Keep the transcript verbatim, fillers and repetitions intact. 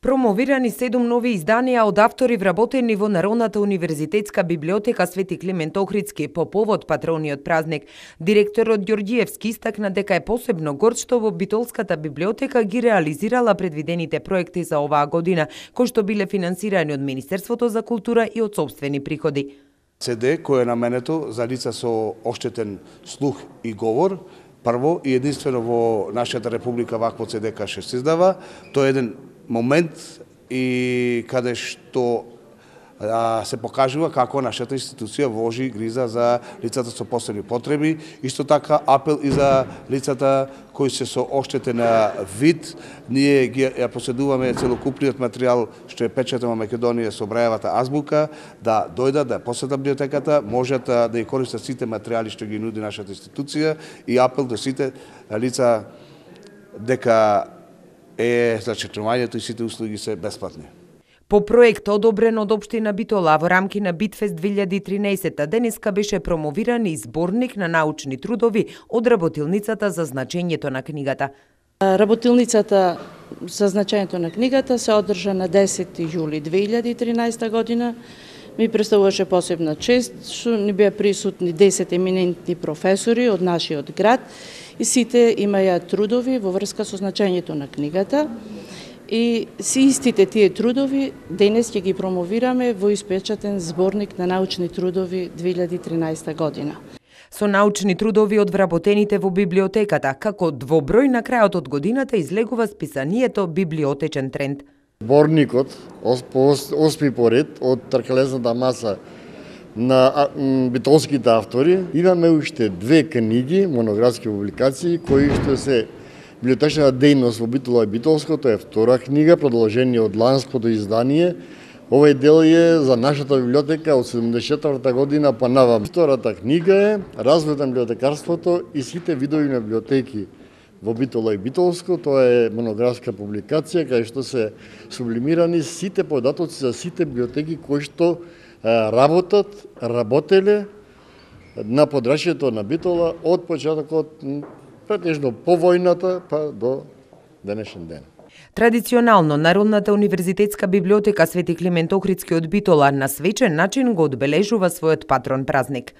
Промовирани седум нови изданија од автори вработени во Народната универзитетска библиотека Свети Климент Охридски по повод патрониот празник. Директорот Ѓорѓиевски истакна дека е посебно горд што во Битолската библиотека ги реализирала предвидените проекти за оваа година, кои што биле финансирани од Министерството за култура и од сопствени приходи. СД кој е наменето за лица со оштетен слух и говор, прво и единствено во нашата република вакво СД каше се издава. Тоа е еден момент и каде што а, се покажува како нашата институција вложи гриза за лицата со посебни потреби, исто така апел и за лицата кои се со оштетен вид. Ние ги ја поседуваме целокупниот материјал што е печатен во Македонија со Брајевата азбука, да дојдат, да посетат библиотеката, можат да ја користат сите материјали што ги нуди нашата институција и апел до сите лица дека е зачитувањето и сите услуги се бесплатни. По проект одобрен од општина Битола во рамки на Битфест две илјади и тринаесетта денеска беше промовиран и зборник на научни трудови од работилницата за значењето на книгата. Работилницата за значењето на книгата се одржа на десети јули две илјади и тринаесетта година. Ми представуваше посебна чест што ни беа присутни десет еминентни професори од нашиот град и сите имаја трудови во врска со значењето на книгата. И си истите тие трудови денес ќе ги промовираме во испечатен зборник на научни трудови две илјади и тринаесетта година. Со научни трудови од вработените во библиотеката, како двоброј на крајот од годината излегува списанието Библиотечен тренд. Зборникот осми поред од тркалезната маса на битолските автори. Имаме уште две книги, монографски публикации, кои што се библиотечната дејност во Битола и Битолско, тоа е втора книга, продолжение од ланското издание. Овој дел е за нашата библиотека од седумдесет и четврта година па навам. Втората книга е Развојот на библиотекарството и сите видови на библиотеки во Битола и Битолско. Тоа е монографска публикација кај што се сублимирани сите податоци за сите библиотеки кои што работат, работеле на подрачјето на Битола од почетокот претежно по војната па до денешен ден. Традиционално Народната универзитетска библиотека Свети Климент Охридски од Битола на свечен начин го одбележува својот патрон празник.